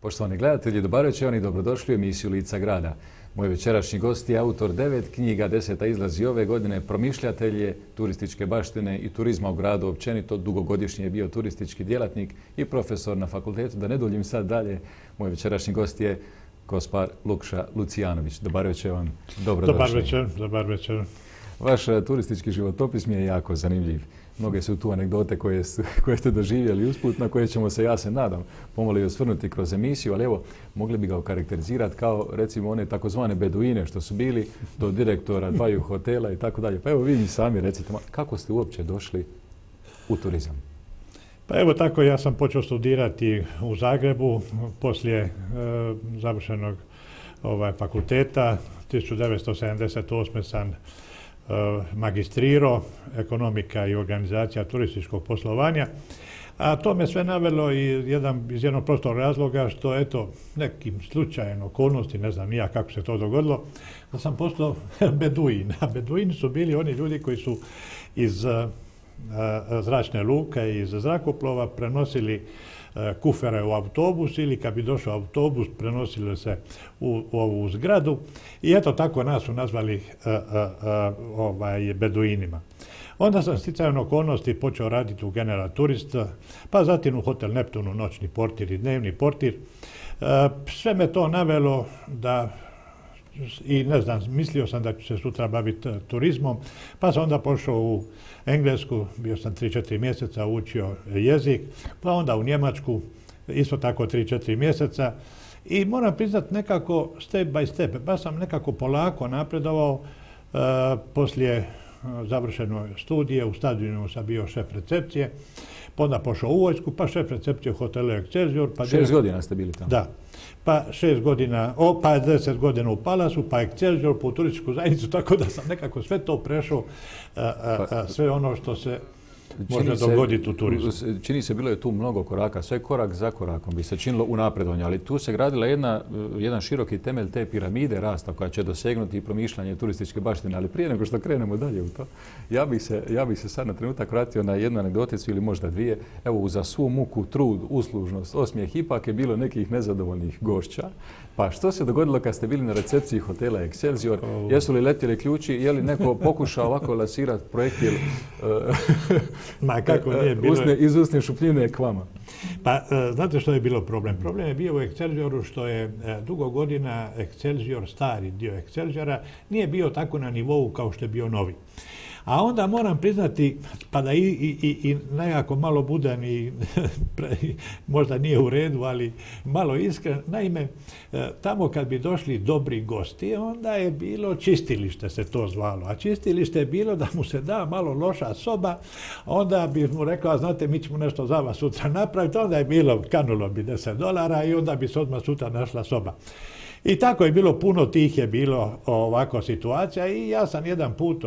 Poštovani gledatelji, dobar večer i dobrodošli u emisiju Lica grada. Moj večerašnji gost je autor 9 knjiga, 10. izlazi ove godine, promišljatelj je turističke baštine i turizma u gradu općenito, dugogodišnji je bio turistički djelatnik i profesor na fakultetu. Da ne duljim sad dalje, moj večerašnji gost je gospar Lukša Lucijanović. Dobar večer vam, dobrodošli. Dobar večer. Vaš turistički životopis mi je jako zanimljiv. Mnoge su tu anegdote koje ste doživjeli usput, na koje ćemo se, ja se nadam, pomalo i osvrnuti kroz emisiju, ali evo, mogli bi ga okarakterizirati kao, recimo, one takozvane beduine što su bili do direktora dvaju hotela i tako dalje. Pa evo, vi mi sami recite, kako ste uopće došli u turizam? Pa evo tako, ja sam počeo studirati u Zagrebu poslije završenog fakulteta. 1978. sam magistrirao ekonomika i organizacija turističkog poslovanja, a to me sve navelo iz jednog prostog razloga što, eto, nekim slučajem okolnosti, ne znam nija kako se to dogodilo, da sam postao beduin. A beduini su bili oni ljudi koji su iz zračne luke i iz zrakoplova prenosili kufere u autobus ili kad bi došao autobus prenosili se u ovu zgradu i eto tako nas su nazvali beduinima. Onda sam sticajem okolnosti počeo raditi u General Turist, pa zatim u Hotel Neptunu noćni portir i dnevni portir. Sve me to navelo da i ne znam, mislio sam da ću se sutra baviti turizmom, pa sam onda pošao u Englesku, bio sam 3-4 mjeseca, učio jezik, pa onda u Njemačku, isto tako 3-4 mjeseca i moram priznati nekako step by step, pa sam nekako polako napredovao. Poslije završene studije u stadionu sam bio šef recepcije, pa onda pošao u vojsku, pa šef recepcije u hotelu Excelsior. Pa 6 godina ste bili tamo? Da. Pa 6 godina, pa 10 godina u Palasu, pa Excelsior, po turističku zajednicu, tako da sam nekako sve to prešao, sve ono što se može dogoditi u turizmu. Čini se, bilo je tu mnogo koraka, sve korak za korakom bi se činilo u napredovanju, ali tu se gradila jedan široki temelj te piramide rasta koja će dosegnuti i promišljanje turističke baštine, ali prije nego što krenemo dalje u to, ja bih se sad na trenutak vratio na jednu anegdoticu ili možda dvije. Evo, uza svu muku, trud, uslužnost, osmijeh, ipak je bilo nekih nezadovoljnih gošća. Pa što se dogodilo kad ste bili na recepciji hotela Excelsior? Jesu li letjeli ključi? Je li neko pokušao ovako lasirati projektil Ma kako nije bilo... iz usne šupljine k vama? Pa znate što je bilo problem? Problem je bio u Excelsioru što je dugo godina Excelsior, stari dio Excelsiora, nije bio tako na nivou kao što je bio novi. A onda moram priznati, pa da i nekako malo budan i možda nije u redu, ali malo iskren. Naime, tamo kad bi došli dobri gosti, onda je bilo čistilište, se to zvalo. A čistilište je bilo da mu se da malo loša soba, onda bi mu rekao, znate, mi ćemo nešto za vas sutra napraviti, onda je bilo, kanulo bi $10 i onda bi se odmah sutra našla soba. I tako je bilo, puno tih je bilo ovako situacija i ja sam jedan put,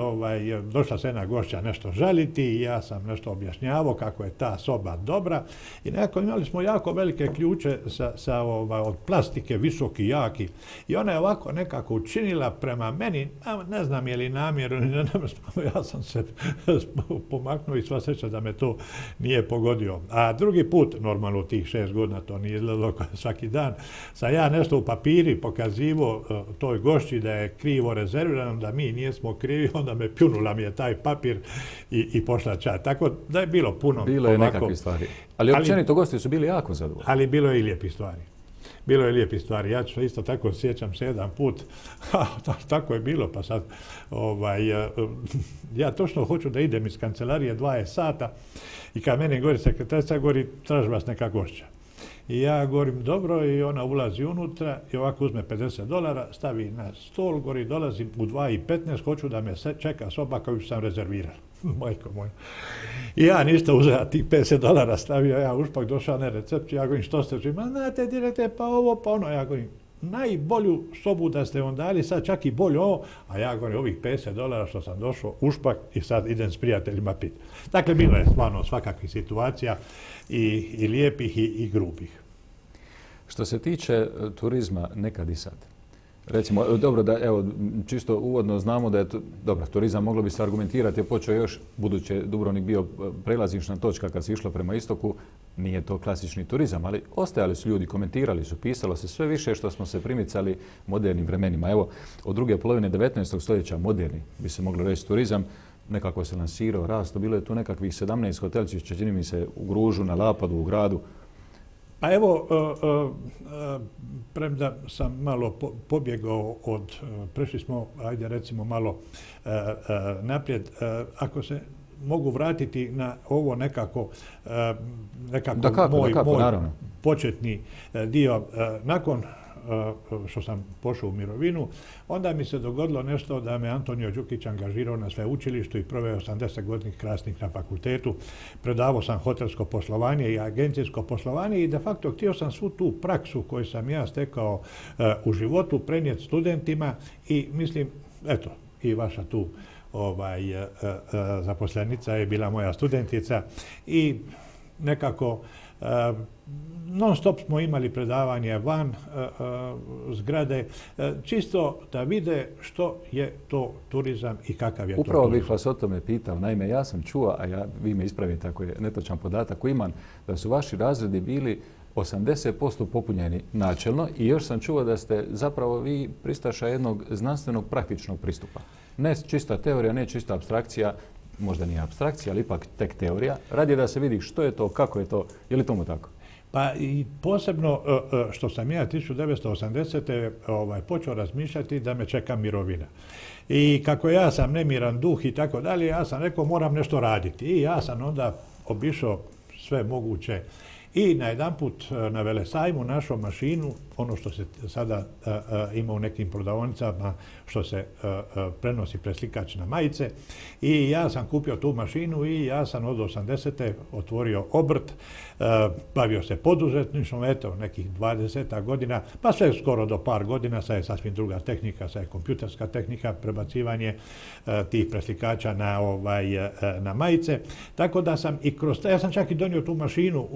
došla se jedna gošća nešto žaliti i ja sam nešto objašnjavao kako je ta soba dobra i nekako imali smo jako velike ključe od plastike, visoki, jaki i ona je ovako nekako učinila prema meni, ne znam je li namjerno, ja sam se pomaknuo i sva sreća da me to nije pogodio. A drugi put, normalno tih 6 godina, to nije izgledalo svaki dan, sam ja nešto u papiri pokazivo toj gošći da je krivo rezervirano, da mi nismo krivi, onda me pljunula mi je taj papir i pošla ča. Tako da je bilo puno. Bilo je nekakve stvari. Ali općenito gosti su bili jako zadovoljni. Ali bilo je i lijepih stvari. Bilo je lijepih stvari. Ja ću isto tako, sjećam se jedan put, tako je bilo, pa sad, ja točno hoću da idem iz kancelarije 20 sata i kad meni govori sekretarica, govori, traži vas neka gošća. I ja govorim dobro i ona ulazi unutra i ovako uzme $50, stavi na stol, gori, dolazim u 2:15, hoću da me čeka soba koju sam rezervirao. Majko moja. I ja ništa uzeo tih $50, stavio ja ušpak, došao na recepciju, ja govorim što ste, znate direkte, pa ovo, pa ono, ja govorim, najbolju sobu da ste vam dali, sad čak i bolje ovo, a ja govorim ovih $50 što sam došao ušpak i sad idem s prijateljima pit. Dakle, bilo je stvarno svakakvih situacija i lijepih i grubih. Što se tiče turizma nekad i sad, Recimo, dobro da, evo, čisto uvodno znamo da je, dobro, turizam moglo bi se argumentirati, je počeo još, budući je Dubrovnik bio prelazišna točka kad se išlo prema istoku, nije to klasični turizam, ali ostajali su ljudi, komentirali su, pisalo se sve više što smo se primicali modernim vremenima. Evo, od druge polovine 19. stoljeća moderni, bi se moglo reći, turizam, nekako se lansirao, rasto, bilo je tu nekakvih 17 hotelčića, čini mi se, u Gružu, na Lapadu, u gradu. Pa evo, premda sam malo pobjegao od, prešli smo, ajde recimo malo naprijed, ako se mogu vratiti na ovo nekako moj početni dio, nakon što sam pošao u mirovinu, onda mi se dogodilo nešto da me Antonio Đukić angažirao na sveučilištu i proveo 80 godina krasnih na fakultetu. Predavao sam hotelsko poslovanje i agencijsko poslovanje i de facto htio sam svu tu praksu koju sam ja stekao u životu prenijeti studentima i mislim, eto, i vaša tu zaposlenica je bila moja studentica i nekako non stop smo imali predavanje van zgrade, čisto da vide što je to turizam i kakav je to turizam. Upravo bih vas o tome pitao. Naime, ja sam čuo, a vi me ispravite ako je netočan podatak koji imam, da su vaši razredi bili 80% popunjeni načelno i još sam čuo da ste zapravo vi pristaša jednog znanstvenog praktičnog pristupa. Ne čista teorija, ne čista apstrakcija, možda nije apstrakcija, ali ipak tek teorija. Radi da se vidi što je to, kako je to, je li tomu tako? Pa i posebno što sam ja 1980. Počeo razmišljati da me čeka mirovina. I kako ja sam nemiran duh i tako dalje, ja sam rekao moram nešto raditi. I ja sam onda obišao sve moguće i najedanput na Velesajmu našao mašinu, ono što se sada ima u nekim prodavaonicama, što se prenosi preslikač na majice. I ja sam kupio tu mašinu i ja sam od 80. otvorio obrt, bavio se poduzetništvom, eto, nekih 20 godina, pa sve skoro do par godina, sad je sasvim druga tehnika, sad je kompjuterska tehnika, prebacivanje tih preslikača na majice. Tako da sam i kroz, ja sam čak i donio tu mašinu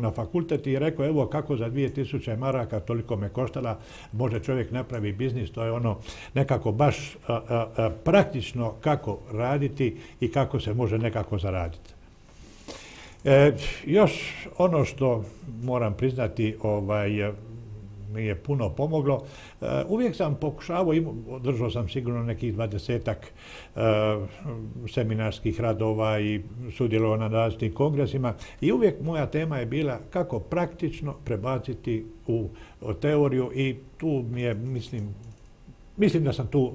na fakultet i rekao, evo kako za 2000 maraka, toliko me koštala, može čovjek napravi biznis, to je ono nekako baš praktično kako raditi i kako se može nekako zaraditi. Još ono što moram priznati mi je puno pomoglo. Uvijek sam pokušavao, održao sam sigurno nekih 20-ak seminarskih radova i sudjelovao na različitim kongresima i uvijek moja tema je bila kako praktično prebaciti u teoriju i tu mi je, mislim da sam tu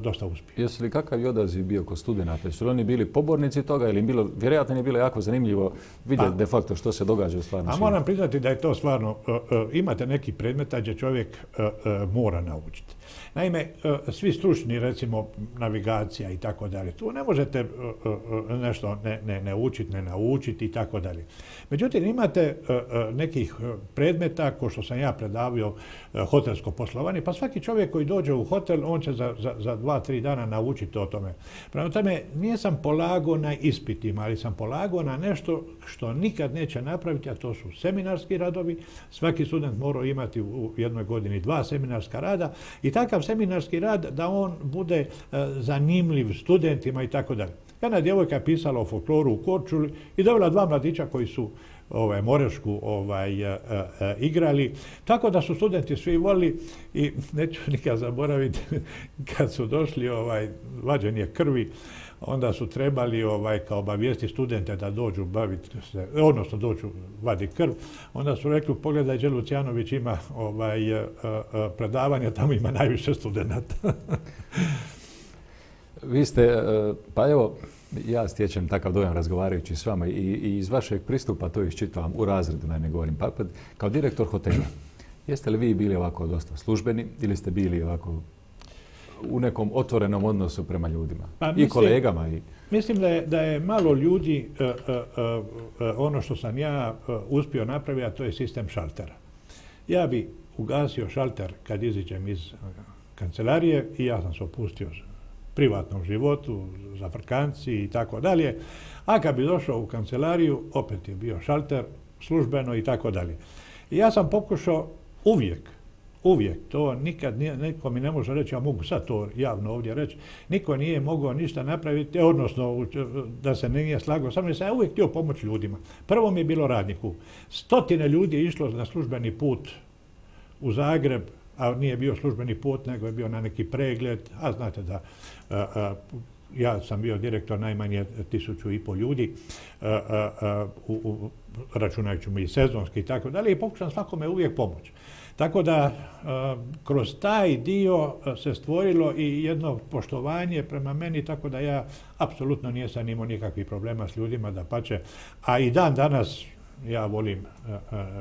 dosta uspio. Jesu li kakav je odaziv bio kod studenata? Jesu li oni bili pobornici toga ili vjerojatno je bilo jako zanimljivo vidjeti de facto što se događa u stvarnom svijetu? A moram priznati da je to stvarno, imate neki predmeta gdje čovjek mora naučiti. Naime, svi stručni, recimo navigacija i tako dalje, tu ne možete nešto ne učiti, ne naučiti i tako dalje. Međutim, imate nekih predmeta, ko što sam ja predavio hotelsko poslovanje, pa svaki čovjek koji dođe u hotel, on će za 2-3 dana naučiti o tome. Prema tome, nisam polagao na ispitima, ali sam polagao na nešto što nikad neće napraviti, a to su seminarski radovi. Svaki student mora imati u jednoj godini 2 seminarska rada i takav seminarski rad da on bude zanimljiv studentima i tako dalje. Jedna djevojka je pisala o folkloru u Korčuli i dovela 2 mladića koji su morešku igrali, tako da su studenti svi volili i neću nikad zaboraviti kad su došli vađenje krvi, onda su trebali kao obavijesti studente da dođu baviti se, odnosno dođu vaditi krv, onda su rekli pogledaj gdje Lucijanović ima predavanje, tamo ima najviše studenata. Vi ste, pa evo, ja stječem takav dojam razgovarajući s vama i iz vašeg pristupa to iščitavam u razredu, ne govorim, pa kao direktor hotela. Jeste li vi bili ovako dosta službeni ili ste bili ovako u nekom otvorenom odnosu prema ljudima i kolegama? Mislim da je malo ljudi ono što sam ja uspio napraviti, a to je sistem šaltera. Ja bi ugasio šalter kad iziđem iz kancelarije i ja sam se opustio privatnom životu, za frkanci i tako dalje. A kad bi došao u kancelariju, opet je bio šalter, službeno i tako dalje. I ja sam pokušao uvijek uvijek. To nikad niko mi ne može reći, ja mogu sad to javno ovdje reći, niko nije mogao ništa napraviti, odnosno da se nije slagao sa mnom, sam ja uvijek htio pomoći ljudima. Prvo mi je bilo radniku. 100 ljudi je išlo na službeni put u Zagreb, a nije bio službeni put, nego je bio na neki pregled, a znate da ja sam bio direktor najmanje 1500 ljudi, računajući mi i sezonski i tako dalje, i pokušam svakome uvijek pomoći. Tako da kroz taj dio se stvorilo i jedno poštovanje prema meni, tako da ja apsolutno nisam imao nikakvih problema s ljudima, dapače. A i dan danas ja volim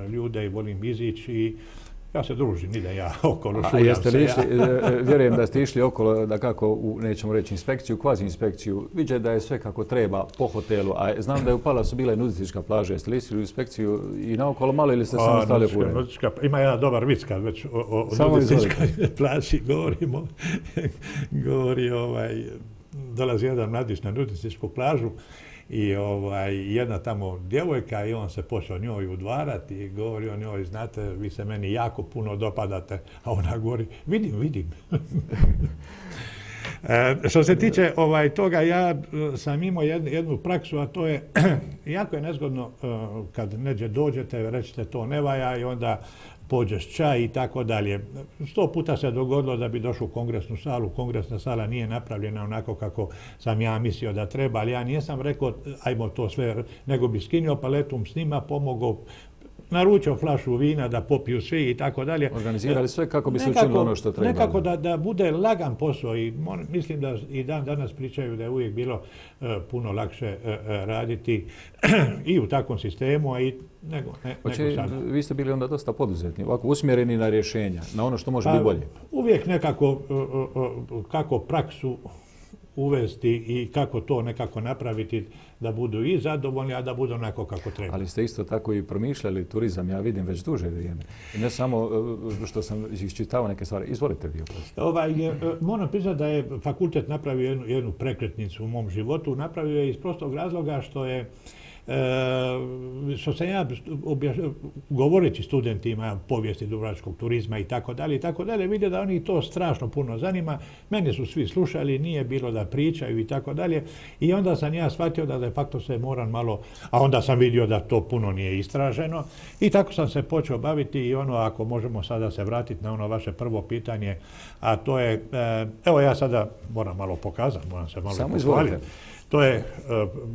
ljude i volim izići i ja se družim, idem ja okolo, šuljam se. Vjerujem da ste išli okolo, da kako, nećemo reći inspekciju, kvazi inspekciju, viđe da je sve kako treba po hotelu, a znam da je u Palasu bila i nudistička plaža. Jeste li išli u inspekciju i naokolo malo ili ste samo stali u Pune? Ima jedan dobar vic kad već o nudističkoj plaži govorimo. Dolazi jedan mladić na nudističku plažu i jedna tamo djevojka i on se počeo njoj udvarati i govori o njoj, znate, vi se meni jako puno dopadate, a ona govori, vidim. Što se tiče toga, ja sam imao jednu praksu, a to je, jako je nezgodno kad neđe dođete, rećete to ne valja i onda pođeš čaj i tako dalje. 100 puta se dogodilo da bi došao u kongresnu salu. Kongresna sala nije napravljena onako kako sam ja mislio da treba, ali ja nisam rekao ajmo to sve, nego bi skinuo paletum s njima, pomogao, naručio flašu vina da popiju svi i tako dalje. Organizirali sve kako bi se učinilo ono što treba. Nekako da bude lagan posao i mislim da i dan danas pričaju da je uvijek bilo puno lakše raditi i u takvom sistemu, a i nego sada. Vi ste bili onda dosta poduzetni, ovako usmjereni na rješenja, na ono što može biti bolje. Uvijek nekako kako praksu uvesti i kako to nekako napraviti da budu i zadovoljni, a da budu onako kako treba. Ali ste isto tako i promišljali turizam, ja vidim već duže vrijeme. I ne samo što sam iščitao neke stvari. Izvolite vi. Moram priznati da je fakultet napravio jednu prekretnicu u mom životu. Napravio je iz prostog razloga što sam ja govoreći studentima povijesti dubrovačkog turizma i tako dalje, vidio da oni to strašno puno zanima. Mene su svi slušali, nije bilo da pričaju i tako dalje. I onda sam ja shvatio da de facto se moram malo, a onda sam vidio da to puno nije istraženo. I tako sam se počeo baviti i ako možemo sada se vratiti na ono vaše prvo pitanje, a to je, evo ja sada moram malo pokazati, moram se malo pohvaliti. To je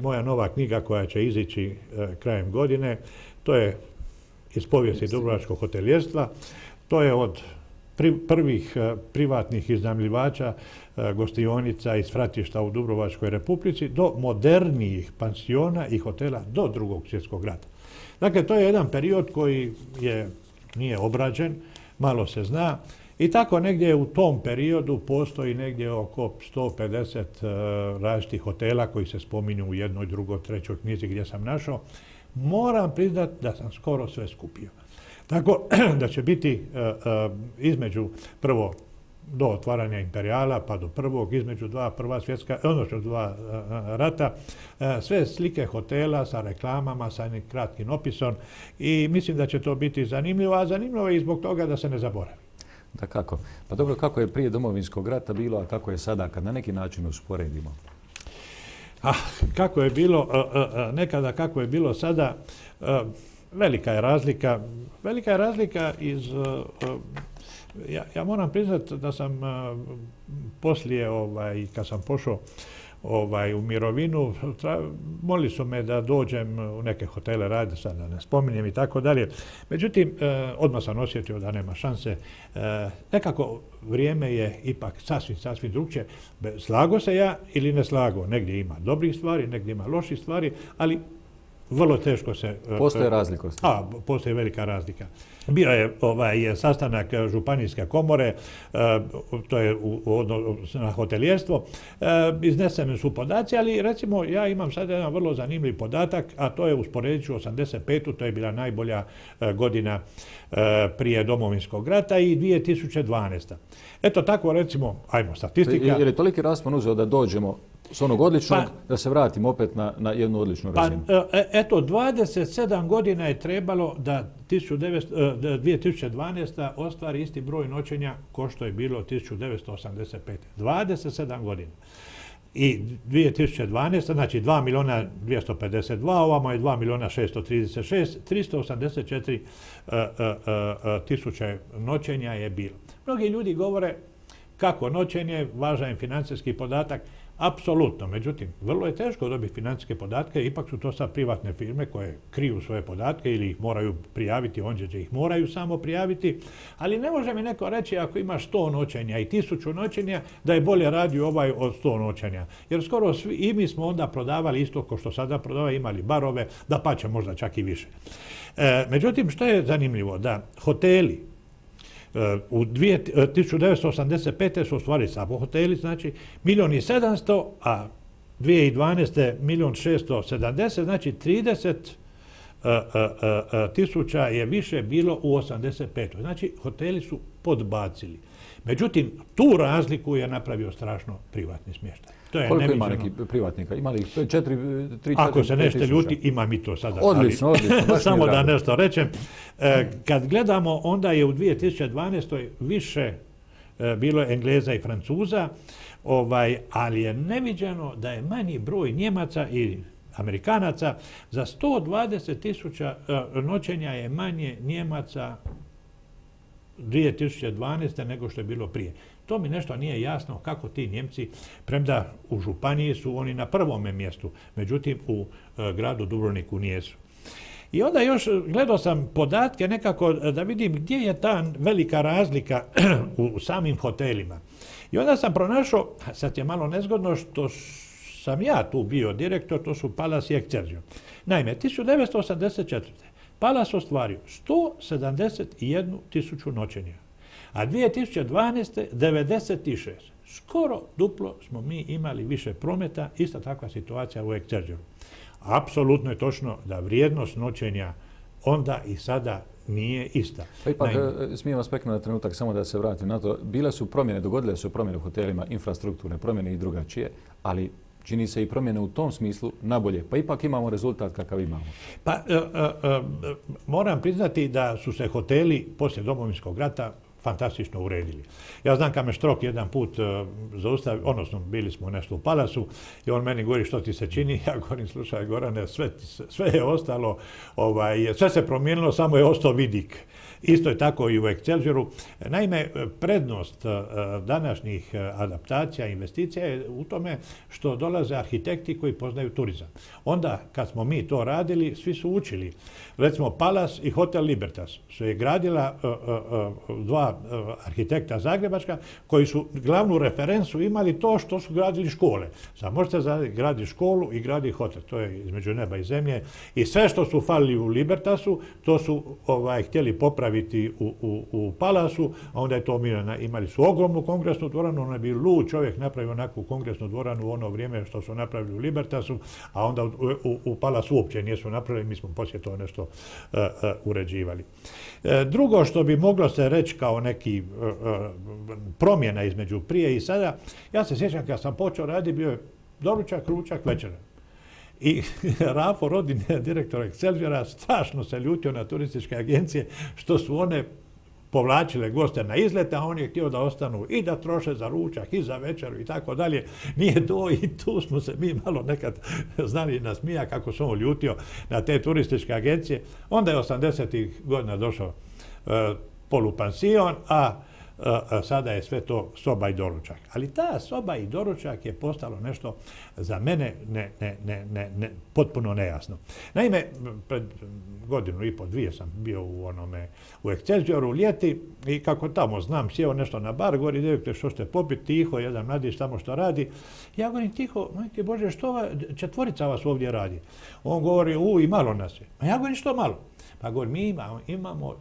moja nova knjiga koja će izići krajem godine. To je iz povijesti dubrovačkog hotelijerstva. To je od prvih privatnih iznajmljivača gostionica i svratišta u Dubrovačkoj Republici do modernijih pansiona i hotela do Drugog svjetskog rata. Dakle, to je jedan period koji nije obrađen, malo se zna. I tako negdje u tom periodu postoji negdje oko 150 različitih hotela koji se spominju u jednoj, drugoj, trećoj knjizi gdje sam našao. Moram priznati da sam skoro sve skupio. Tako da će biti između prvo do otvaranja imperijala pa do prvog, između dva rata, sve slike hotela sa reklamama, sa jednim kratkim opisom i mislim da će to biti zanimljivo, a zanimljivo je i zbog toga da se ne zaboravi. Da kako? Pa dobro, kako je prije Domovinskog rata bilo, a kako je sada, kad na neki način usporedimo? Kako je bilo nekada, kako je bilo sada, velika je razlika. Velika je razlika iz... Ja moram priznati da sam poslije, kad sam pošao u mirovinu, molili su me da dođem u neke hotele raditi, sad da ne spominjem i tako dalje. Međutim, odmah sam osjetio da nema šanse. Nekako vrijeme je ipak sasvim drugčije. Slago se ja ili ne slago. Negdje ima dobrih stvari, negdje ima loših stvari, ali vrlo teško se... Postoje razlikosti. Postoji velika razlika. Bio je sastanak županijske komore, to je na hotelijerstvo, izneseni su podaci, ali recimo ja imam sad jedan vrlo zanimljiv podatak, a to je usporedit ću 85. to je bila najbolja godina prije Domovinskog rata i 2012. Eto tako recimo, ajmo statistika. Jer je toliki raspon uzeo da dođemo S onog odličnog da se vratimo opet na jednu odličnu razinu. Eto, 27 godina je trebalo da 2012. ostvari isti broj noćenja ko što je bilo 1985. 27 godina. I 2012. znači 2.252.000, ovamo je 2.636.000, 384 tisuće noćenja je bilo. Mnogi ljudi govore kako noćenje, važan je financijski podatak. Apsolutno, međutim, vrlo je teško dobiti financijske podatke, ipak su to sad privatne firme koje kriju svoje podatke ili ih moraju prijaviti, ondje ih moraju samo prijaviti, ali ne može mi neko reći ako imaš 100 noćenja i 1000 noćenja da je bolje radio ovaj od 100 noćenja. Jer skoro svi i mi smo onda prodavali isto kao što sada prodavaju, imali barove, da pače možda čak i više. Međutim, što je zanimljivo, da hoteli u 1985. su ostvarili samo hoteli, znači 1.700.000, a 2012. 1.670.000, znači 30.000 je više bilo u 85. Znači hoteli su podbacili. Međutim, tu razliku je napravio strašno privatni smještaj. Koliko ima nekih privatnika? Ima li ih 3-4? Ako se nešto ljuti, imam i to sada. Odlično, odlično. Samo da nešto rečem. Kad gledamo, onda je u 2012. više bilo Engleza i Francuza, ali je neviđeno da je manji broj Njemaca i Amerikanaca. Za 120.000 noćenja je manje Njemaca 2012. nego što je bilo prije. To mi nešto nije jasno kako ti Njemci, premda u županiji su oni na prvome mjestu, međutim u gradu Dubrovniku nijesu. I onda još gledao sam podatke nekako da vidim gdje je ta velika razlika u samim hotelima. I onda sam pronašao, sad je malo nezgodno što sam ja tu bio direktor, to su Palace i Excelsior. Naime, 1984. Palace ostvario 171.000 noćenja, a 2012. 96. Skoro duplo smo mi imali više prometa, ista takva situacija u Excelsioru. Apsolutno je točno da vrijednost noćenja onda i sada nije ista. Pa ipak, smijem vas preknuti na trenutak, samo da se vratim na to. Bile su promjene, dogodile su promjene u hotelima, infrastrukturne promjene i drugačije, ali čini se i promjene u tom smislu nabolje. Pa ipak imamo rezultat kakav imamo. Pa moram priznati da su se hoteli poslije Domovinskog rata fantastično uredili. Ja znam kad me Štrok jedan put zaustavio, odnosno bili smo nešto u Palasu i on meni govori što ti se čini, ja govorim slušaj Gorane, sve je ostalo, sve se promijenilo, samo je ostao vidik. Isto je tako i u Excelsioru. Naime, prednost današnjih adaptacija i investicija je u tome što dolaze arhitekti koji poznaju turizam. Onda, kad smo mi to radili, svi su učili. Recimo, Palace i Hotel Libertas su je gradila dva arhitekta zagrebačka koji su glavnu referencu imali to što su gradili škole. Sad možete graditi školu i graditi hotel. To je između neba i zemlje. I sve što su falili u Libertasu, to su htjeli popraviti u Palasu, a onda je to imali su ogromnu kongresnu dvoranu, ono je bio lud čovjek napravio onakvu kongresnu dvoranu u ono vrijeme što su napravili u Libertasu, a onda u Palasu uopće nisu napravili, mi smo poslije to nešto uređivali. Drugo što bi moglo se reći kao neki promjena između prije i sada, ja se sjećam kad sam počeo raditi, bio je doručak, ručak, večera. I Rafo Rodin, direktor Excelsiora, strašno se ljutio na turističke agencije što su one povlačile goste na izlete, a on je htio da ostanu i da troše za ručak i za večeru i tako dalje. Nije to i tu smo se mi malo nekad znali nasmija kako se on ljutio na te turističke agencije. Onda je 80-ih godina došao polupansion, a sada je sve to soba i doručak. Ali ta soba i doručak je postalo nešto za mene potpuno nejasno. Naime, pred godinu i po, dvije sam bio u Excelsioru ljeti i kako tamo znam, sjeo nešto na bar, govori direktor što ste popiti, tiho, jedan mladić tamo što radi. Ja govorim tiho, majke Bože, što četvorica vas ovdje radi? On govori, i malo nas je. A ja govorim što malo? Pa govorim, mi imamo,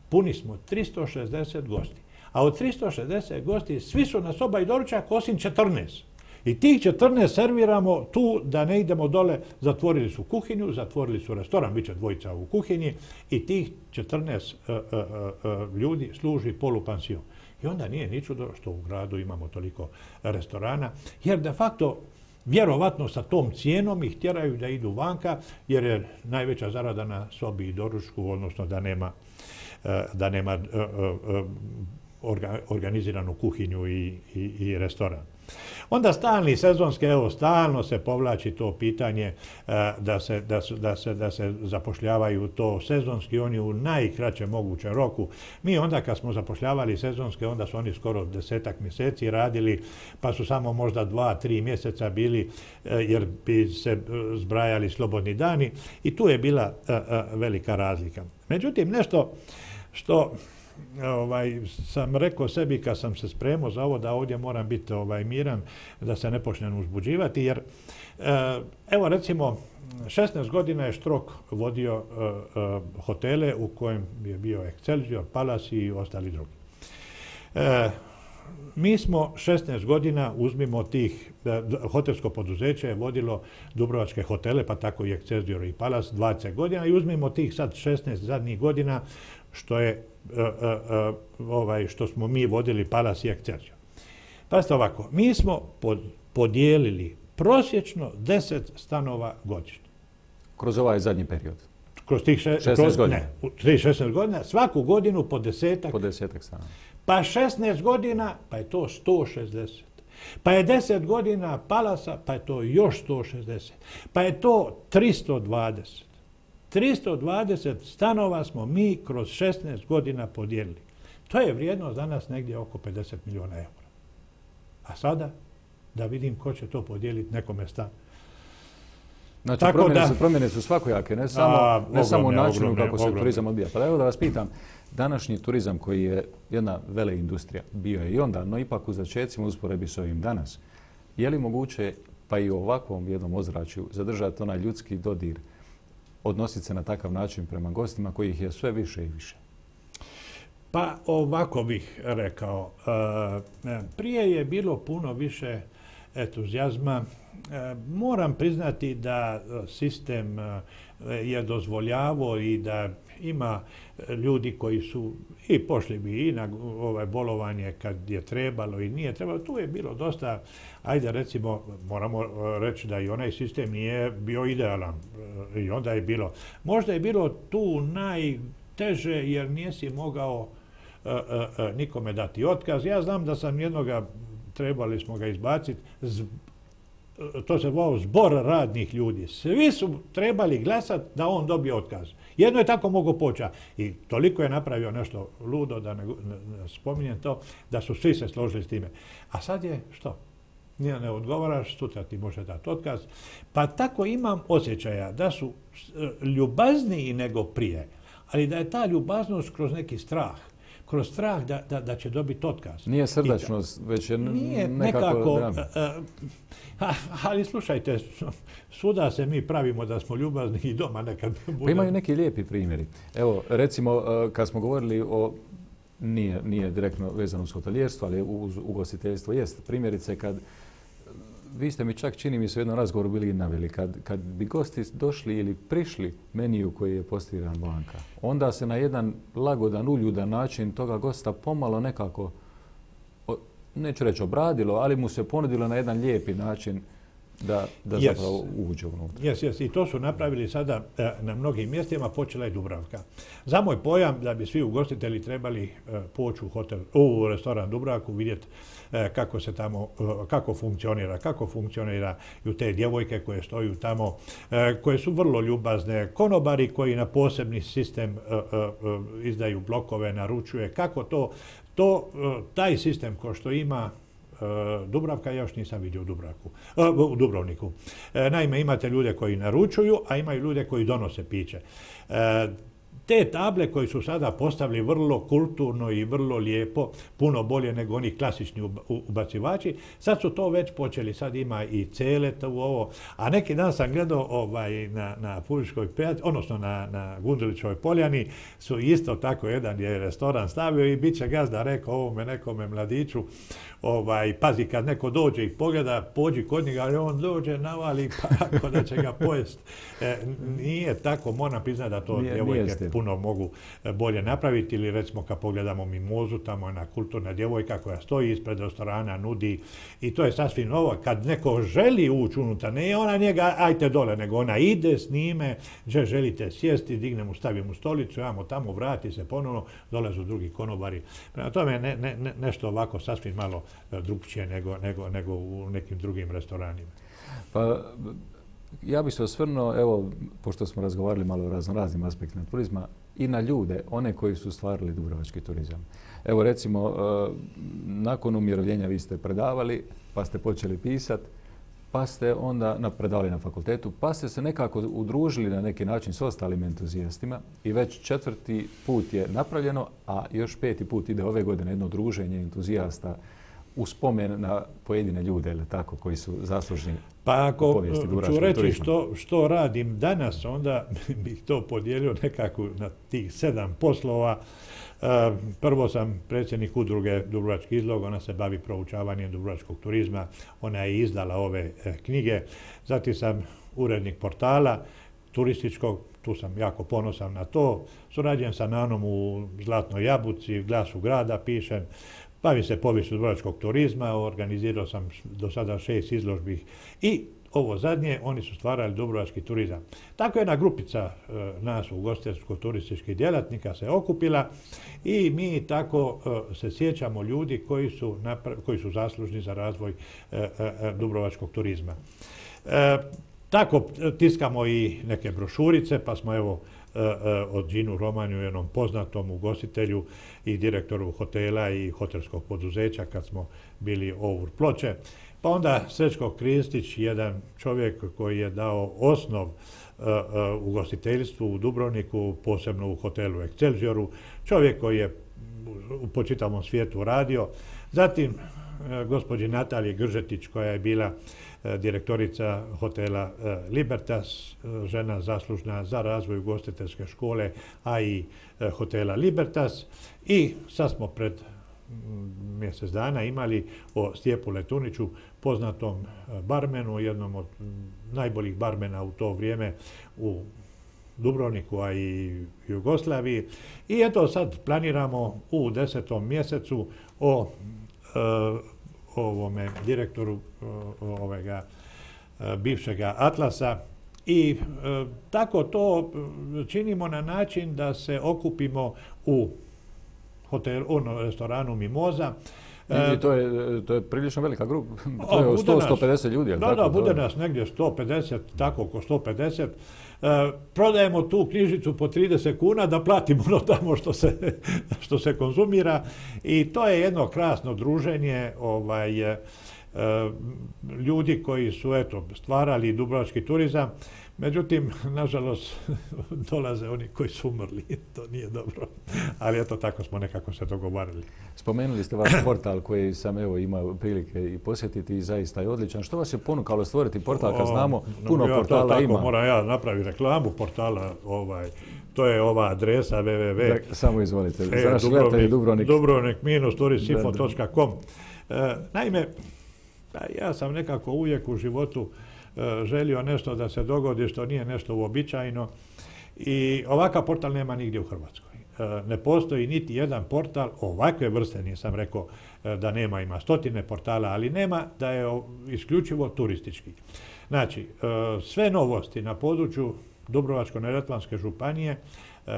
puni smo 360 gosti. A od 360 gosti svi su na soba i doručak osim 14. I tih 14 serviramo tu da ne idemo dole. Zatvorili su kuhinju, zatvorili su restoran, bit će dvojica u kuhinji i tih 14 ljudi služi polupansion. I onda nije ni čudo što u gradu imamo toliko restorana, jer de facto vjerovatno sa tom cijenom ih tjeraju da idu vanka, jer je najveća zarada na sobi i doručku, odnosno da nema organiziranu kuhinju i restoran. Onda stalni sezonski, evo stalno se povlači to pitanje da se zapošljavaju to sezonski, oni u najkraćem mogućem roku. Mi onda kad smo zapošljavali sezonske, onda su oni skoro 10 mjeseci radili, pa su samo možda 2-3 mjeseca bili, jer bi se zbrajali slobodni dani i tu je bila velika razlika. Međutim, nešto što sam rekao sebi kad sam se spremao za ovo, da ovdje moram biti miran, da se ne počnem uzbuđivati, jer evo recimo 16 godina je Štrok vodio hotele u kojem je bio Excelsior, Palace i ostali drugi. Mi smo 16 godina, uzmimo tih, hotelsko poduzeće je vodilo dubrovačke hotele, pa tako i Excelsior i Palace 20 godina i uzmimo tih sad 16 zadnjih godina što smo mi vodili Palace i Excelsior. Pazite ovako, mi smo podijelili prosječno 10 stanova godišnje. Kroz ovaj zadnji period? Kroz tih 16 godina? Ne, u tih 16 godina, svaku godinu po 10-ak. Po 10-ak stanova. Pa 16 godina, pa je to 160. Pa je 10 godina Palasa, pa je to još 160. Pa je to 320. 320 stanova smo mi kroz 16 godina podijelili. To je vrijednost danas negdje oko 50 milijuna eura. A sada da vidim ko će to podijeliti nekome stan. Znači, promjene su svakojake, ne samo u načinu kako se turizam odbija. Pa evo da vas pitam, današnji turizam koji je jedna veleindustrija, bio je i onda, no ipak u začecima usporedbi s ovim danas, je li moguće, pa i u ovakvom jednom ozračju, zadržati onaj ljudski dodir, odnositi se na takav način prema gostima kojih je sve više i više? Pa ovako bih rekao. Prije je bilo puno više entuzijazma. Moram priznati da sistem je dozvoljavao i da ima ljudi koji su i pošli bi i na bolovanje kad je trebalo i nije trebalo. Tu je bilo dosta, ajde recimo, moramo reći da i onaj sistem nije bio idealan. I onda je bilo, možda je bilo tu najteže jer nisi mogao nikome dati otkaz. Ja znam da sam jednoga, trebali smo ga izbaciti, to se zvao zbor radnih ljudi. Svi su trebali glasati da on dobije otkaz. Jedno je tako mogao poći. I toliko je napravio nešto ludo, da ne spominjem to, da su svi se složili s time. A sad je što? Ne odgovaraš, sutra ti može dati otkaz. Pa tako imam osjećaja da su ljubazniji nego prije, ali da je ta ljubaznost kroz neki strah. Kroz strah da će dobiti otkaz. Nije srdačnost, već je nekako ali slušajte, svuda se mi pravimo da smo ljubazni i doma nekad budemo. Pa imaju neki lijepi primjeri. Evo, recimo, kad smo govorili o, nije direktno vezano uz hotelijerstvo, ali uz ugostiteljstvo jest. Primjerice, kad vi ste mi čak, čini mi se, u jednom razgovoru bili naveli, kad bi gosti došli ili prišli meniju koji je postiran vanka, onda se na jedan lagodan, uljudan način toga gosta pomalo nekako, neću reći obradilo, ali mu se ponudilo na jedan lijepi način da zapravo uđe unutra. Yes. I to su napravili sada na mnogim mjestima, počela je Dubravka. Za moj pojam da bi svi ugostitelji trebali poći u restoran Dubravku, vidjeti kako se tamo, kako funkcioniraju te djevojke koje stoju tamo, koje su vrlo ljubazne, konobari koji na posebni sistem izdaju blokove, naručuje, kako taj sistem ko što ima Dubravka, ja još nisam vidio u Dubrovniku. Naime, imate ljude koji naručuju, a imaju ljude koji donose piće. Te table koji su sada postavili vrlo kulturno i vrlo lijepo, puno bolje nego oni klasični ubacivači, sad su to već počeli, sad ima i celet u ovo, a neki dan sam gledao na Puriškoj pijaci, odnosno na Gundulićevoj poljani, su isto tako jedan je restoran stavio i bit će gazda rekao ovome nekome mladiću, pazi kad neko dođe i pogleda, pođi kod njega, ali on dođe, navali, pa ako da će ga pojest. Nije tako, moram priznati da to djevojke puno mogu bolje napraviti. Ili recimo kad pogledamo Mimozu, tamo je ona kulturna djevojka koja stoji ispred restorana, nudi i to je sasvim novo. Kad neko želi ući unutra, ne ona njega ajte dole, nego ona ide s njime, gdje želite sjesti, digne mu, stavi mu stolicu, ja mu tamo vrati se ponovno, dolazu drugi konobari. Prema tome nešto ovako sasvim malo drukčije nego u nekim drugim restoranima. Pa, ja bih se osvrnuo, evo, pošto smo razgovarali malo o raznim aspektima turizma, i na ljude, one koji su stvarali dubrovački turizam. Evo recimo, nakon umirovljenja vi ste predavali, pa ste počeli pisati, pa ste onda predavali na fakultetu, pa ste se nekako udružili na neki način s ostalim entuzijastima i već 4. put je napravljeno, a još 5. put ide ove godine jedno druženje entuzijasta u spomen na pojedine ljude, ili tako, koji su zaslužni. Pa ako ću reći što radim danas, onda bih to podijelio nekako na tih 7 poslova. Prvo sam predsjednik udruge Dubrovački izlog, ona se bavi proučavanjem dubrovačkog turizma, ona je izdala ove knjige. Zatim sam urednik portala turističkog, tu sam jako ponosan na to. Surađujem sa Nanom u Zlatnoj jabuci, Glasu grada pišem. Bavim se poviješću dubrovačkog turizma, organizirao sam do sada 6 izložbi i ovo zadnje, oni su stvarali dubrovački turizam. Tako jedna grupica nas ugostiteljsko-turističkih djelatnika se okupila i mi tako se sjećamo ljudi koji su zaslužni za razvoj dubrovačkog turizma. Tako tiskamo i neke brošurice, pa smo evo od Đinu Romanju, jednom poznatom ugostitelju i direktoru hotela i hotelskog poduzeća kad smo bili Our Ploče. Pa onda Srećko Kristić, jedan čovjek koji je dao osnov ugostiteljstvu u Dubrovniku, posebno u hotelu Excelsioru, čovjek koji je po čitavom svijetu radio. Zatim gospođi Nataliji Gržetić koja je bila direktorica hotela Libertas, žena zaslužna za razvoj ugostiteljske škole, a i hotela Libertas. I sad smo pred mjesec dana imali o Stjepu Letuniću, poznatom barmenu, jednom od najboljih barmena u to vrijeme u Dubrovniku, a i Jugoslaviji. I eto sad planiramo u 10. mjesecu o ovome direktoru bivšega Atlasa i tako to činimo na način da se okupimo u restoranu Mimoza. To je prilično velika grupa, to je 100-150 ljudi. Da, bude nas negdje 150, tako oko 150. Prodajemo tu knjižicu po 30 kuna da platimo ono tamo što se konzumira i to je jedno krasno druženje ljudi koji su stvarali dubrovački turizam. Međutim, nažalost, dolaze oni koji su umrli. To nije dobro. Ali eto, tako smo nekako se dogovarali. Spomenuli ste vaš portal koji sam imao prilike i posjetiti i zaista je odličan. Što vas je ponukalo stvoriti portal kad znamo puno portala ima? Moram ja napraviti reklamu portala. To je ova adresa www. Samo izvolite. Za naše gledatelje Dubrovnik. Dubrovnik-turistinfo.com. Naime, ja sam nekako uvijek u životu želio nešto da se dogodi što nije nešto uobičajeno i ovakav portal nema nigdje u Hrvatskoj. Ne postoji niti jedan portal ovakve vrste, nisam rekao da nema, ima stotine portala, ali nema da je isključivo turistički. Znači, sve novosti na području Dubrovačko-neretvanske županije,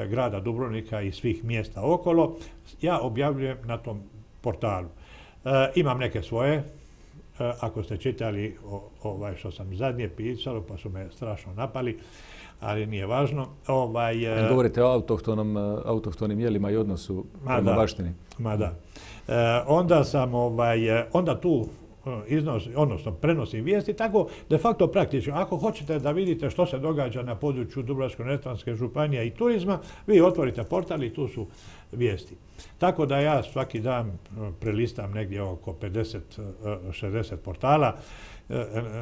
grada Dubrovnika i svih mjesta okolo, ja objavljujem na tom portalu. Imam neke svoje. Ako ste čitali što sam zadnje pisalo, pa su me strašno napali, ali nije važno. Govorite o autohtonim jelima i odnosu prema baštini. Ma da. Onda tu prenosim vijesti, tako de facto praktično. Ako hoćete da vidite što se događa na području Dubrovačko-neretvanske županije i turizma, vi otvorite portal i tu su vijesti. Tako da ja svaki dan prelistam negdje oko 50-60 portala.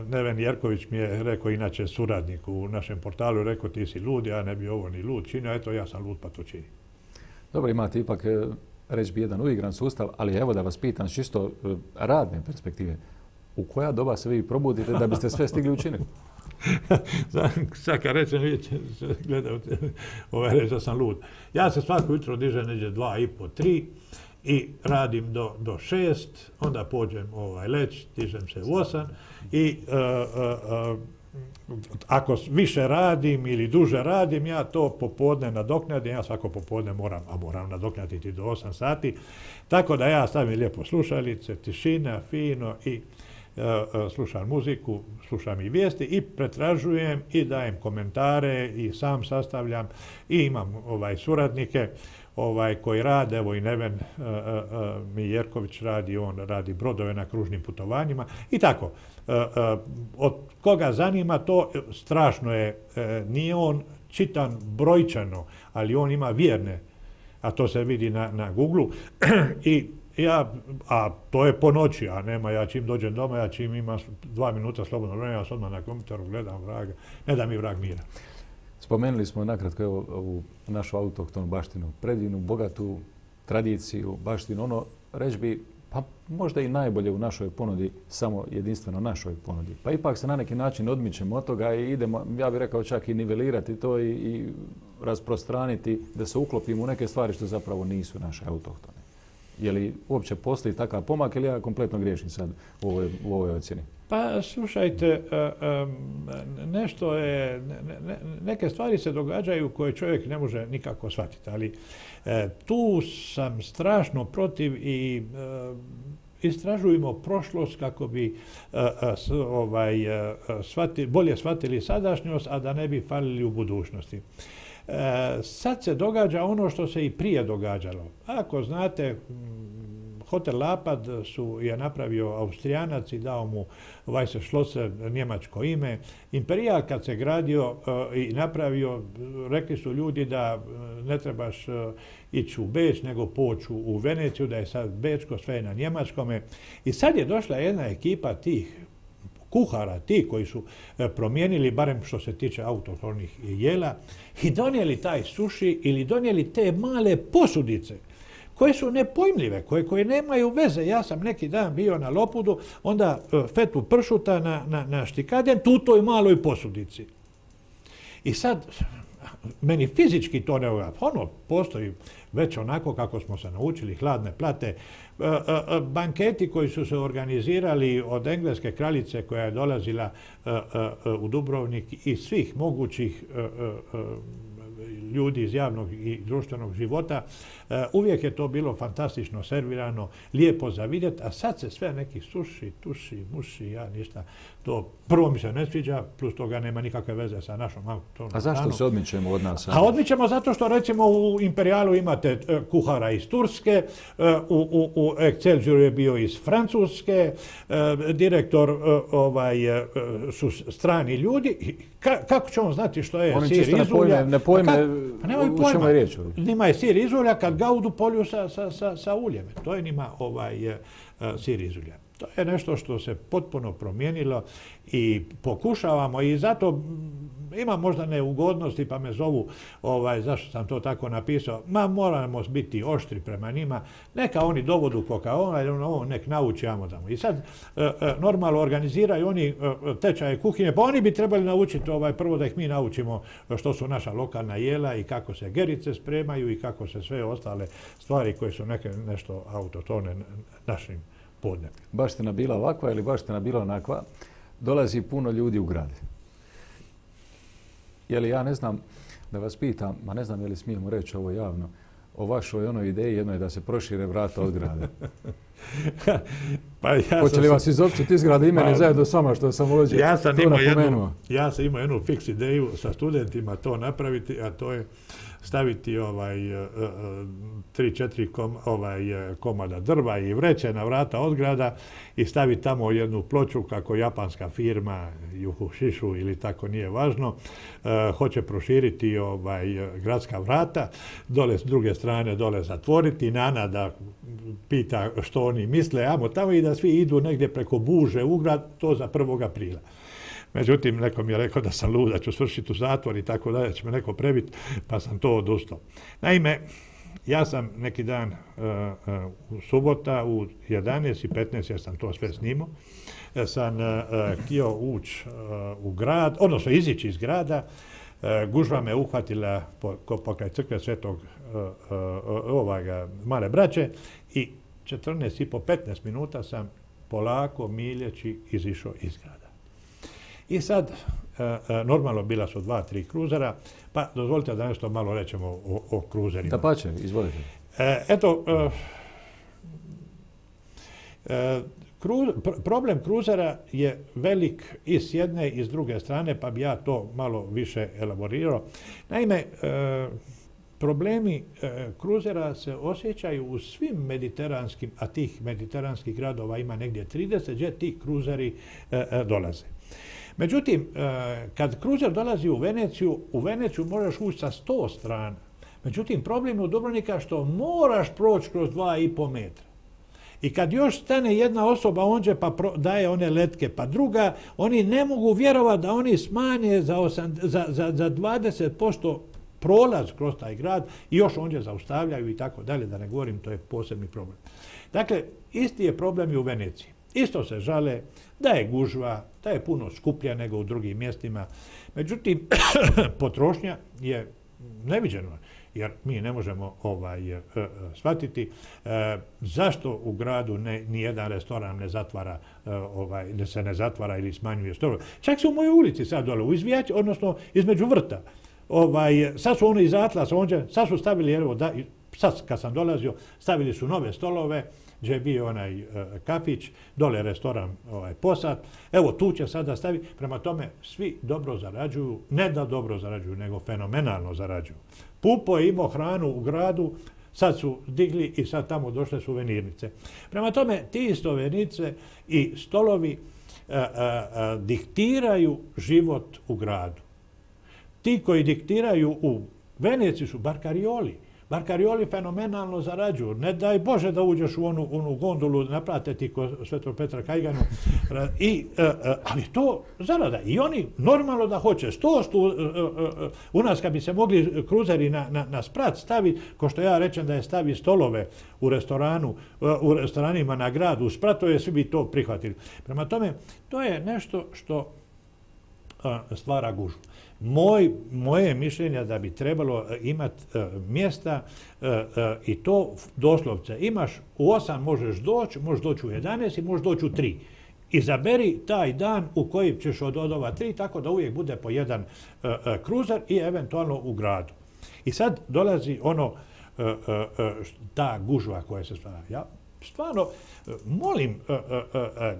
Neven Jerković mi je rekao, inače suradnik u našem portalu, rekao ti si lud, ja ne bi ovo ni lud činio, eto ja sam lud pa to čini. Dobro, imate ipak, reći bi, jedan uigran sustav, ali evo da vas pitam s čisto radne perspektive, u koja doba se vi probudite da biste sve stigli učiniti? Sad kad rečem, gledao, reći da sam lud. Ja se svako jutro dižem neđe 2,5, 3 i radim do 6, onda pođem leć, dižem se u 8 i ako više radim ili duže radim, ja to popodne nadoknadim, ja svako popodne moram nadoknaditi do 8 sati, tako da ja stavim lijepo slušalice, tišina, fino i slušam muziku, slušam i vijesti i pretražujem i dajem komentare i sam sastavljam i imam suradnike koji rade, evo i Neven Mijerković radi, on radi brodove na kružnim putovanjima i tako. Od koga zanima to, strašno je, nije on čitan brojčano, ali on ima vjerne, a to se vidi na Google-u i a to je po noći, a nema, ja čim dođem doma, ja čim imam 2 minuta slobodno vremena, ja se odmah na kompjuteru gledam vraga, ne da mi vrag mira. Spomenuli smo nakratko ovu našu autohtonu baštinu, predivnu, bogatu tradiciju, baštinu, reći bi, pa možda i najbolje u našoj ponudi, samo jedinstveno našoj ponudi. Pa ipak se na neki način odmičemo od toga i idemo, ja bih rekao čak i nivelirati to i rasprostraniti, da se uklopimo u neke stvari što zapravo nisu naše autohtone. Je li uopće postoji takav pomak ili ja kompletno griješim sad u ovoj ocjeni? Pa slušajte, nešto je, neke stvari se događaju koje čovjek ne može nikako shvatiti, ali tu sam strašno protiv i istražujemo prošlost kako bi bolje shvatili sadašnjost, a da ne bi falili u budućnosti. Sad se događa ono što se i prije događalo. Ako znate, Hotel Lapad je napravio Austrijanac i dao mu Weisse Schlosser, njemačko ime. Imperijal kad se gradio i napravio, rekli su ljudi da ne trebaš ići u Beč, nego poći u Veneciju, da je sad bečko, sve je na njemačkome. I sad je došla jedna ekipa tih kuhara, ti koji su promijenili, barem što se tiče autohtonih jela, i donijeli taj suši ili donijeli te male posudice koje su nepojmljive, koje nemaju veze. Ja sam neki dan bio na Lopudu, onda fetu pršuta na štikaden, tu toj maloj posudici. I sad, meni fizički to ne ugleda. Postoji već onako kako smo se naučili, hladne plate, banketi koji su se organizirali od engleske kraljice koja je dolazila u Dubrovnik i svih mogućih ljudi iz javnog i društvenog života. Uvijek je to bilo fantastično servirano, lijepo za vidjeti, a sad se sve neki suši, tuši, muši, ja ništa. To prvo mi se ne sviđa, plus toga nema nikakve veze sa našom autohtonom. A zašto se odmičemo od nas? A odmičemo zato što recimo u Imperijalu imate kuhara iz Turske, u Excelsior je bio iz Francuske, direktor su strani ljudi. Kako će on znati što je sir iz ulja? Ne pojme u čemu je riječ. Njima je sir iz ulja kad ga u polju sa uljem. To je njima sir iz ulja. To je nešto što se potpuno promijenilo i pokušavamo i zato imam možda neugodnosti pa me zovu zašto sam to tako napisao. Moramo biti oštri prema njima. Neka oni dovodu kokaona ili nek nauči tamo. I sad normalno organiziraju oni tečaje kuhinje, pa oni bi trebali naučiti prvo da ih mi naučimo što su naša lokalna jela i kako se gerice spremaju i kako se sve ostale stvari koje su nešto autohtone našim podne. Baština bila ovakva ili baština bila onakva, dolazi puno ljudi u grad. Je li ja ne znam da vas pitam, ma ne znam je li smijemo reći ovo javno, o vašoj onoj ideji jednoj da se prošire vrata od grada. Hoće li vas izopćiti iz grada i mene zajedno s vama što sam ovdje tu napomenuo? Ja sam imao jednu fiks ideju sa studentima to napraviti, a to je staviti 3-4 komada drva i vreće na vrata od grada i staviti tamo jednu ploču kako japanska firma Juhu Šišu ili tako, nije važno, hoće proširiti gradska vrata, dole s druge strane dole zatvoriti, Nana da pita što oni misle, tamo i da svi idu negdje preko Buže u grad, to za 1. aprila. Međutim, neko mi je rekao da sam lud, da ću svršiti u zatvor i tako dalje, će me neko prebiti, pa sam to odustao. Naime, ja sam neki dan u subota u 11:15, jer sam to sve snimao, sam htio ući u grad, odnosno izići iz grada. Gužva me uhvatila pokraj crkve Svetog Male Braće i 14,5-15 minuta sam polako, miljeći, izišao iz grada. I sad, normalno bila su 2-3 kruzera, pa dozvolite da nešto malo rećemo o kruzerima. Dapače, izvolite. Eto, problem kruzera je velik i s jedne i s druge strane, pa bi ja to malo više elaborirao. Naime, problemi kruzera se osjećaju u svim mediteranskim, a tih mediteranskih gradova ima negdje 30, gdje ti kruzeri dolaze. Međutim, kad kruzer dolazi u Veneciju možeš ući sa 100 strana. Međutim, problem u Dubrovnika što moraš proći kroz 2,5 metra. I kad još stane jedna osoba onđe pa daje one letke, pa druga, oni ne mogu vjerovati da oni smanje za 20% prolaz kroz taj grad i još onđe zaustavljaju i tako dalje, da ne govorim, to je posebni problem. Dakle, isti je problem i u Veneciji. Isto se žale da je gužva, da je puno skuplja nego u drugim mjestima. Međutim, potrošnja je neviđena, jer mi ne možemo shvatiti zašto u gradu nijedan restoran ne zatvara, se ne zatvara ili smanjuje stolove. Čak se u mojoj ulici sad dole, u Izvijači, odnosno između vrta. Sad su oni iz Atlasa, sad su stavili, evo, sad kad sam dolazio, stavili su nove stolove, gdje je bio onaj kafić, dole restoran Posad. Evo, tu će sada staviti. Prema tome, svi dobro zarađuju, ne da dobro zarađuju, nego fenomenalno zarađuju. Pupo je imao hranu u gradu, sad su digli i sad tamo došle suvenirnice. Prema tome, ti suvenirnice i stolovi diktiraju život u gradu. Ti koji diktiraju u Veneciji su barkarioli. Barkarioli fenomenalno zarađuju. Ne daj Bože da uđeš u onu gondolu, naplate ti kod Svetog Petra Kajganu. Ali to zarada. I oni normalno da hoće. U nas kad bi se mogli kruzeri na sprat staviti, ko što ja rečem da je stavi stolove u restoranima na gradu, u spratove, svi bi to prihvatili. Prema tome, to je nešto što stvara gužvu. Moje mišljenje da bi trebalo imati mjesta i to doslovce. Imaš u 8 možeš doći u 11 i možeš doći u 3. Izaberi taj dan u koji ćeš od ova 3, tako da uvijek bude po jedan kruzer i eventualno u gradu. I sad dolazi ta gužva koja se stvara. Ja stvarno molim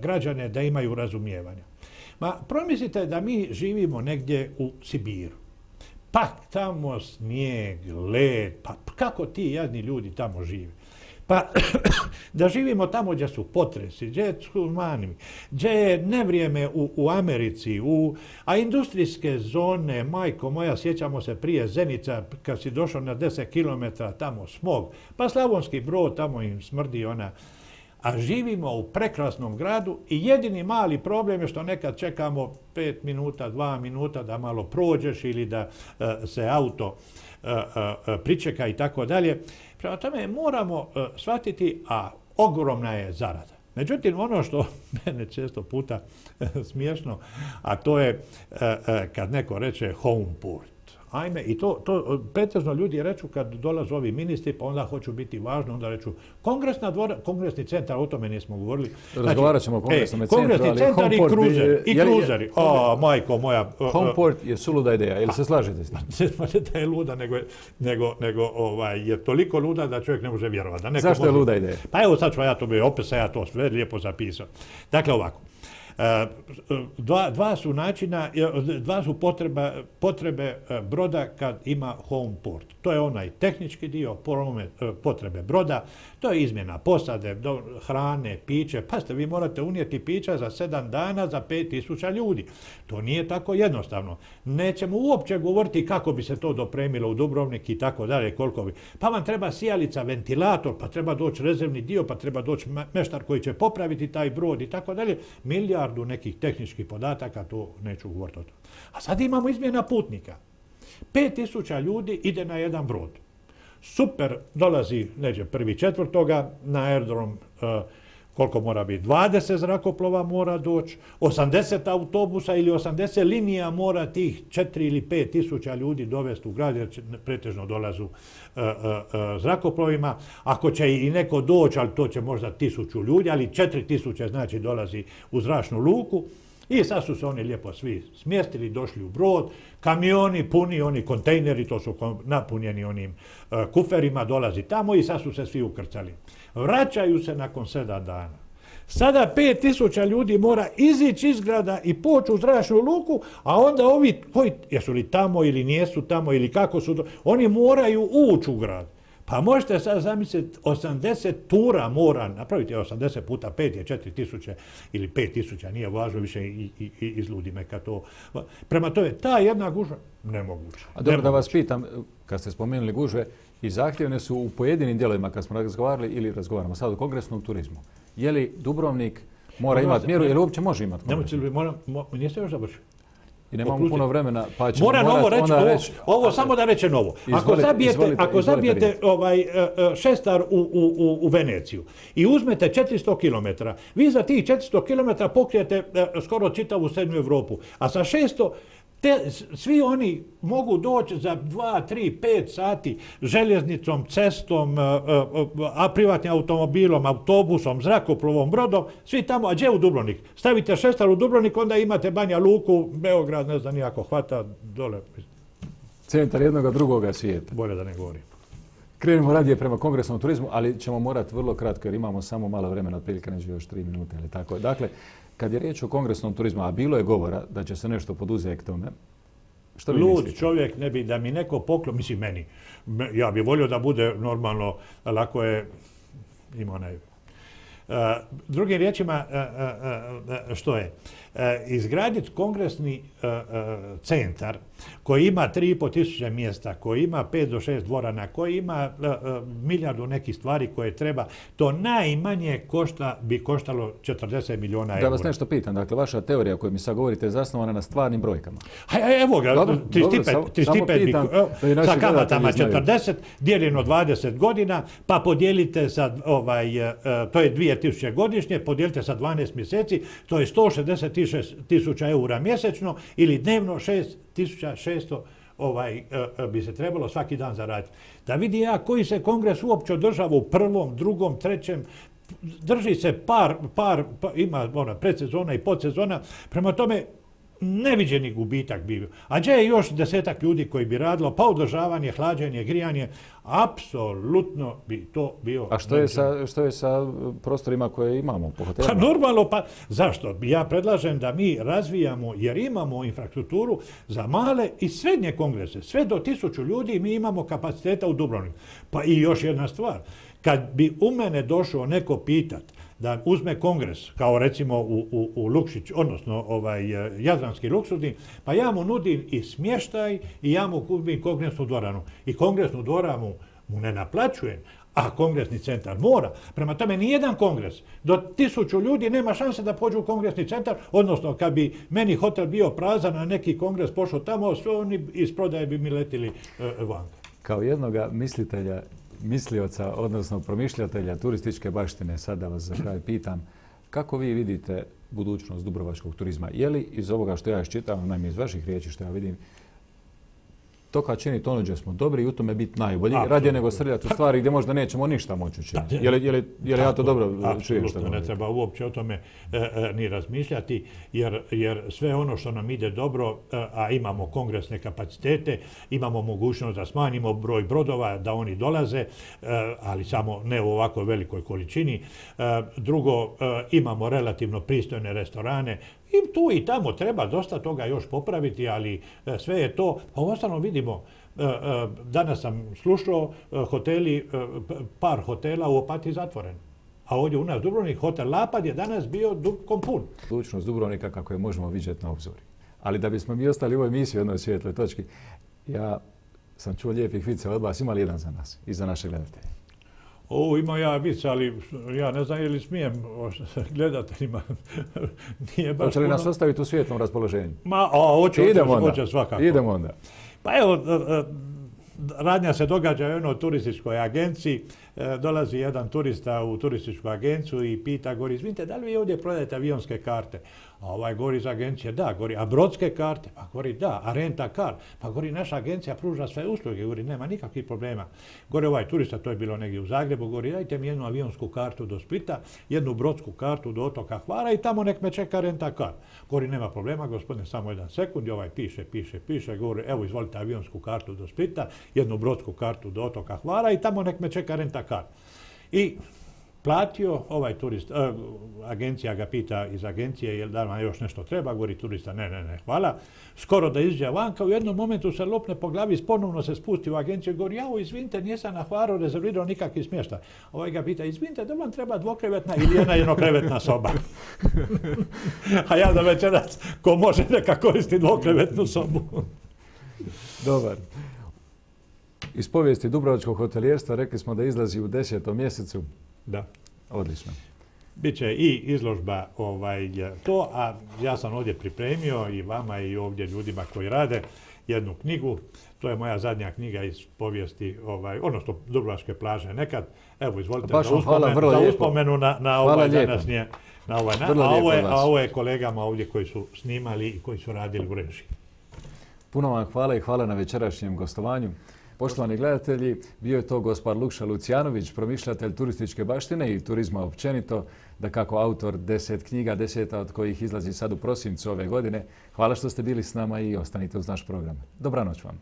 građane da imaju razumijevanja. Promislite da mi živimo negdje u Sibiru. Pa tamo snijeg, led, pa kako ti jadni ljudi tamo žive? Pa da živimo tamo gdje su potresi, gdje je tsunami, gdje je nevrijeme u Americi, a industrijske zone, majko moja, sjećamo se prije Zenica, kad si došao na 10 km, tamo smog, pa Slavonski Brod, tamo im smrdi ona. A živimo u prekrasnom gradu i jedini mali problem je što nekad čekamo 5 minuta, 2 minuta da malo prođeš ili da se auto pričeka i tako dalje. Prema tome moramo shvatiti, a ogromna je zarada. Međutim, ono što mene često puta smiješno, a to je kad neko reče homeport. Ajme, i to pretežno ljudi reču kad dolaze ovi ministri, pa onda hoću biti važno, onda reču kongresni centar, o tome nismo govorili. Razgovarat ćemo o kongresnom centru, kongresni centar i kruzeri. Majko moja. Homeport je suluda ideja, jel se slažete s tim? Ne da je luda, nego je toliko luda da čovjek ne može vjerovati. Zašto je luda ideja? Pa evo sad ću ja to opet sam ja to sve lijepo zapisao. Dakle ovako. Dva su načina, dva su potrebe broda kad ima home port. To je onaj tehnički dio, potrebe broda, to je izmjena posade, hrane, piće. Pazite, vi morate unijeti pića za 7 dana za 5000 ljudi. To nije tako jednostavno. Nećemo uopće govoriti kako bi se to dopremilo u Dubrovnik i tako dalje, koliko bi. Pa vam treba sijalica, ventilator, pa treba doći rezervni dio, pa treba doći meštar koji će popraviti taj brod i tako dalje. Milijardu nekih tehničkih podataka, to neću govoriti o tome. A sad imamo izmjena putnika. 5000 ljudi ide na jedan brod. super, dolazi neđe 1.4. na aerodrom, koliko mora biti, 20 zrakoplova mora doći, 80 autobusa ili 80 linija mora tih 4 ili 5 tisuća ljudi dovesti u grad, jer pretežno dolazu zrakoplovima. Ako će i neko doći, ali to će možda 1000 ljudi, ali 4000 znači dolazi u zračnu luku. I sad su se oni lijepo svi smjestili, došli u brod, kamioni puni, oni kontejneri, to su napunjeni onim kuferima, dolazi tamo i sad su se svi ukrcali. Vraćaju se nakon 7 dana. Sada 5000 ljudi mora izići iz grada i poći u zračnu luku, a onda ovi, koji, jesu li tamo ili nijesu tamo ili kako su, oni moraju ući u grad. Pa možete sad zamisliti, 80 tura mora napraviti, 80 puta 5 je 4000 ili 5000, nije važno više i izludi me kad to. Prema tome, ta jedna gužva, nemoguća. A dobro da vas pitam, kad ste spomenuli gužve, i zahtjevne su u pojedinim dijelovima kad smo razgovarali ili razgovaramo sad o kongresnom turizmu. Je li Dubrovnik mora imati mjeru ili uopće može imati kongresnu? Niste još završili. I nemamo puno vremena, pa ćemo moram morati ovo reći, reći... ovo samo da reče novo. Ako zabijete šestar u Veneciju i uzmete 400 km, vi za tih 400 km pokrijete skoro čitavu srednju Europu, a sa 600 svi oni mogu doći za 2, 3, 5 sati željeznicom, cestom, privatnim automobilom, autobusom, zrakoplovom, brodom, svi tamo, a gdje u Dubrovnik? Stavite šestar u Dubrovnik, onda imate Banja Luku, Beograd, ne znam nijako, hvata dole. Centar jednoga drugoga svijeta. Bolje da ne govorim. Krenemo radije prema kongresnom turizmu, ali ćemo morati vrlo kratko jer imamo samo malo vremena, otprilike neće još 3 minute ili tako. Dakle, kad je riječ o kongresnom turizmu, a bilo je govora da će se nešto poduzeti tome, što vi mislite? Lud čovjek ne bi da mi neko poklon, mislim meni, ja bih volio da bude normalno, lako je, ima onaj. Drugim riječima, što je? Izgraditi kongresni centar koji ima 3500 mjesta, koji ima 5 do 6 dvorana, koji ima milijardu nekih stvari koje treba, to najmanje bi koštalo 40 milijuna eura. Da vas nešto pitam, dakle, vaša teorija koju mi sad govorite je zasnovana na stvarnim brojkama. Evo ga, sa kamatama 40, dijeljeno 20 godina, pa podijelite sa, to je 2000 godišnje, podijelite sa 12 mjeseci, to je 166.000 eura mjesečno ili dnevno 6.600 bi se trebalo svaki dan zaraditi. Da vidi ja koji se kongres uopće održava u prvom, drugom, trećem, drži se ima predsezona i podsezona, prema tome neviđeni gubitak bio. A gdje je još 10-ak ljudi koji bi radilo, pa održavanje, hlađenje, grijanje, apsolutno bi to bio... A što je sa prostorima koje imamo po hotelima? Pa normalno, pa zašto? Ja predlažem da mi razvijamo, jer imamo infrastrukturu za male i srednje kongrese. Sve do 1000 ljudi mi imamo kapaciteta u Dubrovniku. Pa i još jedna stvar. Kad bi u mene došao neko pitat da uzme kongres, kao recimo u Lukšić, odnosno Jadranski luksuzni, pa ja mu nudim i smještaj i ja mu kupim kongresnu dvoranu. I kongresnu dvoranu mu ne naplaćujem, a kongresni centar mora. Prema tome, nijedan kongres do 1000 ljudi nema šanse da pođu u kongresni centar, odnosno kad bi meni hotel bio prazan, a neki kongres pošao tamo, sve oni iz prodaje bi mi letili vanka. Kao jednoga mislioca, odnosno promišljatelja turističke baštine, sad da vas za kraj pitam, kako vi vidite budućnost dubrovačkog turizma? Je li iz ovoga što ja iščitavam, naime iz vaših riječi što ja vidim, to kad čini to gdje smo dobri i u tome biti najbolji, radije nego srljati u stvari gdje možda nećemo ništa moći učiniti. Je li ja to dobro čujem što govorim? Ne treba uopće o tome ni razmišljati, jer sve ono što nam ide dobro, a imamo kongresne kapacitete, imamo mogućnost da smanjimo broj brodova, da oni dolaze, ali samo ne u ovako velikoj količini. Drugo, imamo relativno pristojne restorane, i tu i tamo treba dosta toga još popraviti, ali sve je to. Pa uostalom vidimo, danas sam slušao par hotela u Opatiji zatvoren. A ovdje u nas Dubrovnik, hotel Lapad je danas bio dubkom pun. Budućnost Dubrovnika kako je možemo vidjeti na obzori. Ali da bismo mi ostali u ovoj emisiji u jednoj svijetloj točki, ja sam čuo lijepih vica od vas, ima li jedan za nas i za naše gledatelje? Ima ja vic, ali ja ne znam je li smijem gledateljima. Nije baš hoće li nas ostaviti u svijetlom raspoloženju? Hoće svakako. Idemo onda. Pa evo, radnja se događa u jednoj turističkoj agenciji. Dolazi jedan turista u turističku agenciju i pita, govori, izvinite, da li vi ovdje prodajete avionske karte? A ovaj govori iz agencije, da, govori, a brodske karte? Pa govori, da, a renta kar? Pa govori, naša agencija pruža sve usluge, govori, nema nikakvih problema. Govori ovaj turista, to je bilo negdje u Zagrebu, govori, dajte mi jednu avionsku kartu do Splita, jednu brodsku kartu do otoka Hvara i tamo nek me čeka renta kar. Govori, nema problema, gospodine, samo jedan sekund, i ovaj piše, govori, evo, izvolite avionsku kartu do Splita, jednu brodsku kartu do otoka Hvara i tamo nek me čeka renta kar. I platio, ovaj turist, agencija ga pita iz agencije, jel da vam još nešto treba, govori turista, ne, hvala. Skoro da izađe vanka, u jednom momentu se lopne po glavi, ponovno se spusti u agenciju i govori, jao, izvinite, nisam na Hvaru rezervirao nikakvi smještaj. Ovaj ga pita, izvinite, da vam treba dvokrevetna ili jedna jednokrevetna soba. A ja da večeras, ko može neka koristi dvokrevetnu sobu. Dobar. Iz povijesti dubrovačkog hotelijerstva rekli smo da izlazi u 10. mjesecu. Da. Odlično. Biće i izložba to, a ja sam ovdje pripremio i vama i ovdje ljudima koji rade jednu knjigu. To je moja zadnja knjiga iz povijesti, odnosno Dubrovačke plaže nekad. Evo, izvolite za uspomenu na ovaj današnje. A ovo je kolegama ovdje koji su snimali i koji su radili u režiji. Puno vam hvala i hvala na večerašnjem gostovanju. Poštovani gledatelji, bio je to gospar Lukša Lucijanović, promišljatelj turističke baštine i turizma općenito, dakako autor 10 knjiga, 10 od kojih izlazi sad u prosincu ove godine. Hvala što ste bili s nama i ostanite uz naš program. Dobranoć vam.